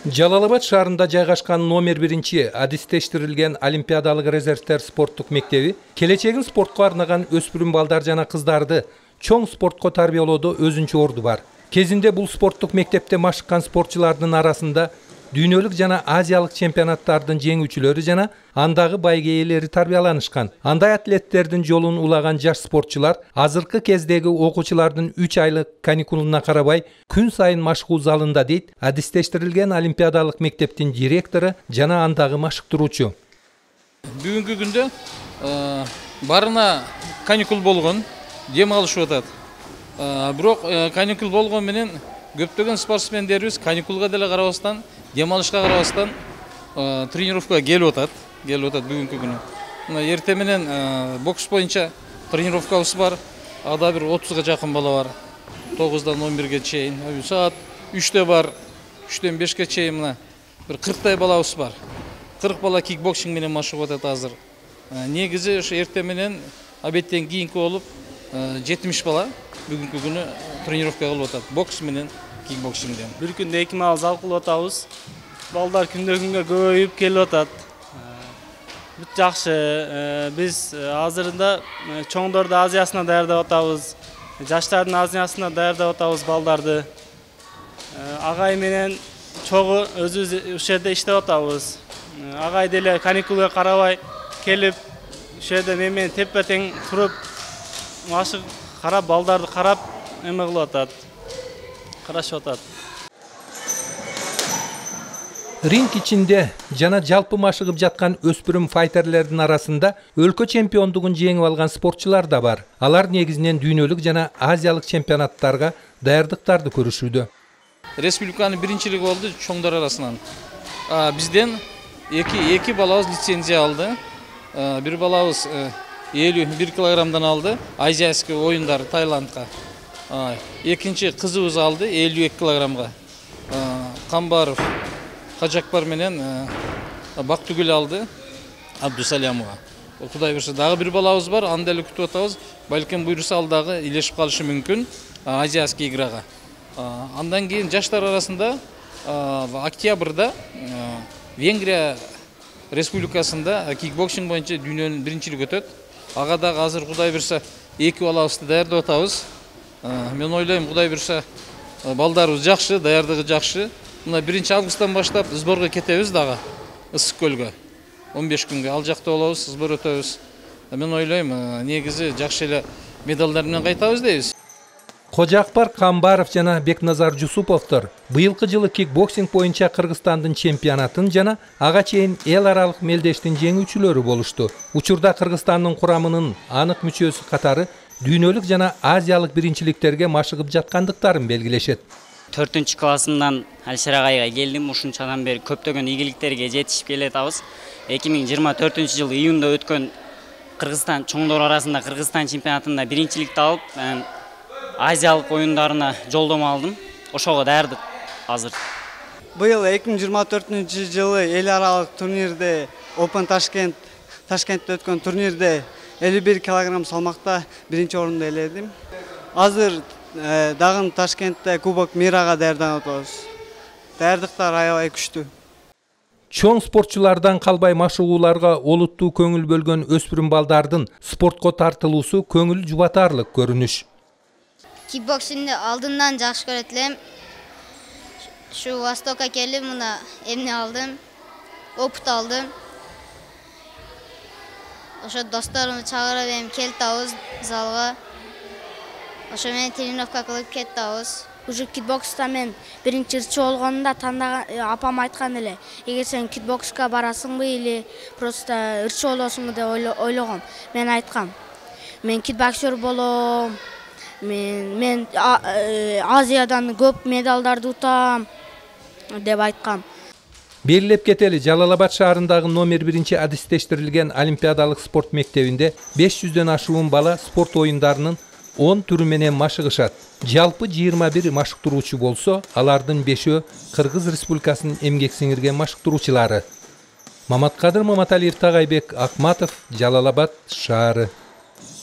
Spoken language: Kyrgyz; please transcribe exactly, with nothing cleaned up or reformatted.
Жалал-Абад шаарында жайгашкан номер биринчи адистештирилген Олимпиадалык резервтер спорттук мектеби келечегин спортко арнаган өспүрүм балдар жана кыздарды чоң спортко тарбиялоодо өзүнчө орду бар. Кезинде бул спорттук мектепте машыккан спортчулардын арасында дүйнөлүк жана азиялык чемпионаттардын жеңүүчүлөрү жана андагы байге ээлери тарбияланышкан. Андай атлеттердин жолун улаган жаш спортчулар азыркы кездеги окуучулардын үч айлык каникулуна карабай күн сайын машыгуу залында дейт адистештирилген Олимпиадалык мектептин директору жана андагы машыктыруучу. Бүгүнкү күндө барына каникул болгон, дем алышып атат. Бирок каникул болгон менен көптөгөн спортсмендерибиз каникулга деле карабастан, дем алышка карабастан тренировкага келип атат, келип атат бүгүнкү күнү. Мына эртең менен бокс боюнча тренировкабыз бар. Ада бир отузга жакын бала бар. тогуздан он бирге чейин, саат үчтө бар, үчтөн бешке чейин мына бир кырктай балабыз бар. кырк бала кикбоксинг менен машыгып атат азыр. Негизи ошо эртең менен обедтен кийинки болуп жетимиш бала бүгүнкү күнү тренировка кылып атат. Бокс менен кикбоксингден. Бир күндө эки маал зал кылып атабыз. Балдар күндөн күнгө көбөйүп келип атат. Бүт жакшы. Биз азырында чоңдорду Азиясына даярдап атабыз. Жаштардын Азиясына даярдап атабыз балдарды. Агай менен чогуу өзүбүз ушул жерде иштеп атабыз. Агай деле каникулга карабай келип, ушул жерде мен менен тепе-тең туруп, машык карап, балдарды карап, эме кылып атат. Карашып атат. Ринг ичинде жана жалпы машыгып жаткан өспүрүм файтерлердин арасында өлкө чемпиондугун жеңип алган спортчулар да бар. Алар негизинен дүйнөлүк жана азиялык чемпионаттарга даярдыктарды көрүшүүдө. Республиканын биринчилиги болду чоңдор арасынан. Бизден эки эки балабыз лицензия алды. Бир балабыз элүү бир килограммдан алды, азияский оюндар Таиландга. Экинчи кызыбыз алды элүү эки килограммга. Камбаров Кажакбар менен Бактыгүл алды Абдусалямова. Кудай буйруса дагы бир балабыз бар, аны деле күтүп атабыз. Балким буйруса ал дагы илешип калышы мүмкүн азияский играга. Андан кийин жаштар арасында октябрда Венгрия республикасында кикбоксинг боюнча дүйнөнүн биринчилиги өтөт. Ага дагы азыр кудай буйруса эки балабызды даярдап атабыз. Мен ойлойм, кудай буйруса балдарыбыз жакшы, даярдыгы жакшы. Мына биринчи августтан баштап сборго кетебиз дагы Ысык көлгө. он беш күнгө ал жакта болобуз, сбор өтөбүз. Мен ойлойм, негизи жакшы эле медалдар менен кайтабыз дейбиз. Кожакбар Камбаров жана Бекназар Жусуповдор быйылкы жылы кикбоксинг боюнча Кыргызстандын чемпионатын жана ага чейин эл аралык мелдештин жеңүүчүлөрү болушту. Учурда Кыргызстандын курамынын анык мүчөсү катары дүйнөлүк жана азиялык биринчиликтерге машыгып жаткандыктарын белгилешет. төртүнчү классымдан Алишер агайга келдим. Ушунчадан бери көптөгөн ийгиликтерге жетишип келатабыз. эки миң жыйырма төртүнчү жылы июнда өткөн Кыргызстан чоңдор арасында Кыргызстан чемпионатында биринчиликти алып, азиялык оюндарына жолдомо алдым. Ошого даярдык азыр. Быйыл эки миң жыйырма төртүнчү жылы эл аралык турнирде Open Ташкент Ташкентте өткөн турнирде элүү бир килограмм салмакта биринчи орунду ээледим. Азыр дагы Ташкентте Кубок Мирага даярданып атабыз. Даярдыктар аябай күчтүү. Чоң спортчулардан калбай машыгууларга олуттуу көңүл бөлгөн өспүрүм балдардын спортко тартылуусу көңүл жубатарлык көрүнүш. Кикбоксингди алдындан жакшы көрөт элем. Шу Востокко келип, мына эмне алдым, опыт алдым. Ошо досторумду чакырып эми келтабыз залга. Ошо менен тренировка кылып кеттабыз. Уже кикбокста мен биринчи ырчы болгонумда тандаган апам айткан эле, эгер сен кикбокска барасыңбы или просто ырчы болосуңбу деп ойлогом. Мен айткам, мен кикбоксер болом. Мен мен Азиядан көп медалдарды утам деп айткам. Белгилеп кетели, Жалал-Абад шаарындагы номер биринчи адистештирилген Олимпиадалык спорт мектебинде беш жүздөн ашуун бала спорт оюндарынын он түрү менен машыгышат. Жалпы жыйырма бир машыктыруучу болсо, алардын бешөө Кыргыз Республикасынын эмгек сиңирген машыктыруучулары. Маматкадыр Маматалиев, Тагайбек Акматов, Жалал-Абад шаары.